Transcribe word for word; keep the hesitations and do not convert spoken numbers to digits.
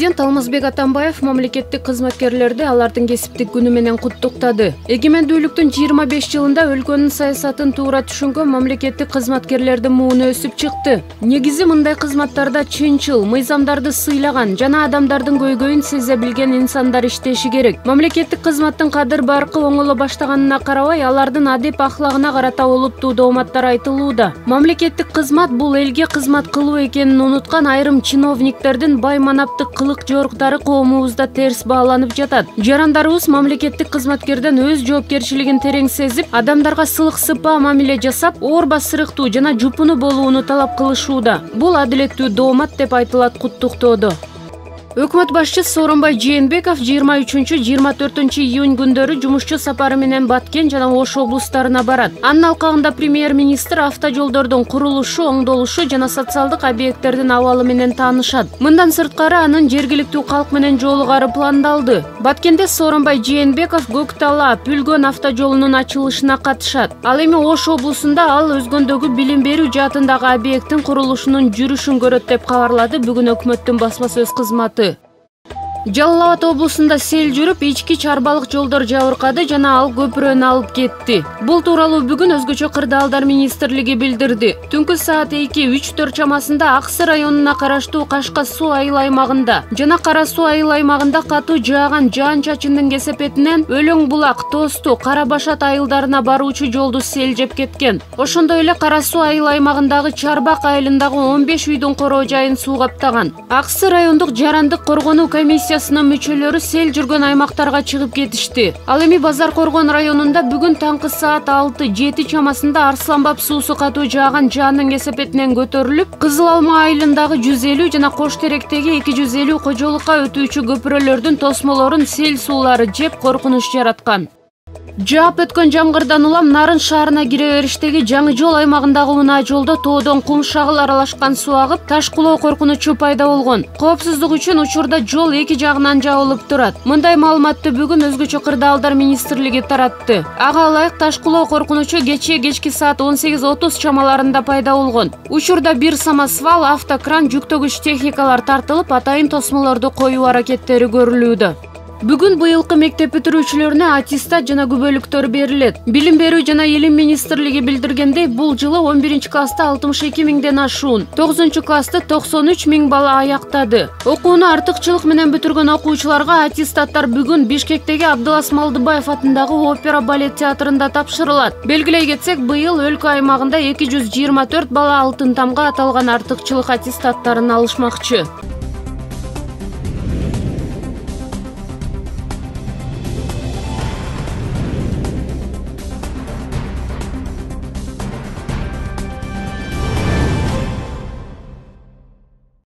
Президент Алмазбек Атамбаев мамлекеттик кызматкерлерди алардын кесиптик күнү менен куттуктады. Эгемендүүлүктүн жыйырма беш жылында өлкөнүн саясатын туура түшүнгөн мамлекеттик кызматкерлердин мууну өсүп чыкты. Негизи мындай кызматтарда чынчыл, мыйзамдарды сыйлаган жана адамдардын көйгөйүн сезе билген инсандар иштеши керек. Мамлекеттик кызматтын кадыр баркы оңоло баштаганына карабай, алардын адеп ахлагына карата олуттуу дооматтар айтылууда. Мамлекеттик кызмат бул элге кызмат кылуу экенин унуткан айрым чиновниктердин байманаптык кылык жоруктары коомубузда терс бааланып жатат. Жарандарыбыз мамлекеттик кызматкерден өз жоопкерчилигин терең сезип, адамдарга сылык сыпаа мамиле жасап, оорба сырыктуу жана жупуну болууну талап кылышууда. Бул адилеттүү доомат деп айтылат куттуктоодо. Өкмөт башчысы Сооронбай Жээнбеков жыйырма үчүнчү — жыйырма төртүнчү июнь күндөрү жумушчу сапары менен Баткен жана Ош облустарына барат. Анын алкагында премьер-министр автожолдордун курулушу, оңдолушу жана социалдык объекттердин абалы менен таанышат. Мындан сырткары анын жергиликтүү калк менен жолугары пландалды. Баткенде Сооронбай Жээнбеков Көктала Пүлгөн автожолунун ачылышына катышат. Ал эми Ош облусунда ал өзгөндөгү билим берүү жаатындагы объекттин курулушунун жүрүшүн көрөт деп кабарлады бүгүн өкмөттүн басма сөз кызматы. Жалал Абад облусунда сел жүрүп, ички чарбалык жолдор жабыркады жана ал көпүрөнү алып кетти. Бул тууралуу бүгүн өзгөчө кырдаалдар министрлиги билдирди. Түнкү саат эки үч төрт чамасында Аксы районуна караштуу Кашка суу айыл аймагында жана Кара суу айыл аймагында катуу жааган жаан-чачындын кесепетинен Өлөң булак, Тосту, Кара Башат айылдарына баруучу жолду сел жеп кеткен. Ошондой эле Кара суу айыл аймагындагы Чарбак айылындагы он беш үйдүн короо жайын суу каптаган. Аксы райондук жарандык коргонуу комиссиясы мүчөлөрү сел жүргөн аймактарга чыгып кетишти. Ал эми Базар Коргон районунда бүгүн таңкы саат алты жети чамасында Арсланбап суусу катуу жааган жаандын кесепетинен көтөрүлүп, Кызыл Алма айылындагы жүз элүү жана Кош Теректеги эки жүз элүү кожолукка өтүүчү көпүрөлөрдүн тосмолорун сел суулары жеп коркунуч жараткан. Жаап өткөн жамгырдан улам Нарын шаарына кире бериштеги Жаңы жол аймагындагы унаа жолдо тоодон кум шагыл аралашкан суу агып, таш кулоо коркунучу пайда болгон. Коопсуздук үчүн учурда жол эки жагынан жабылып турат. Мындай маалыматты бүгүн өзгөчө кырдаалдар министрлиги таратты. Ага ылайык таш кулоо коркунучу кечээ кечки саат он сегиз отуз чамаларында пайда болгон. Учурда бир самосвал, автокран, жүктөгүч техникалар тартылып, атайын тосмолорду коюу аракеттери көрүлүүдө. Бүгүн быйылкы мектеп бүтүрүүчүлөрүнө аттестат жана күбөлүктөр берилет. Билим берүү жана илим министрлиги билдиргендей, бул жылы он биринчи класста алтымыш эки миңден ашуун, тогузунчу классты токсон үч миң бала аяктады. Окууну артыкчылык менен бүтүргөн окуучуларга аттестаттар бүгүн Бишкектеги Абдылас Малдыбаев атындагы опера балет театрында тапшырылат. Белгилей кетсек, быйыл өлкө аймагында эки жүз жыйырма төрт бала алтын тамга аталган артыкчылык аттестаттарын алышмакчы.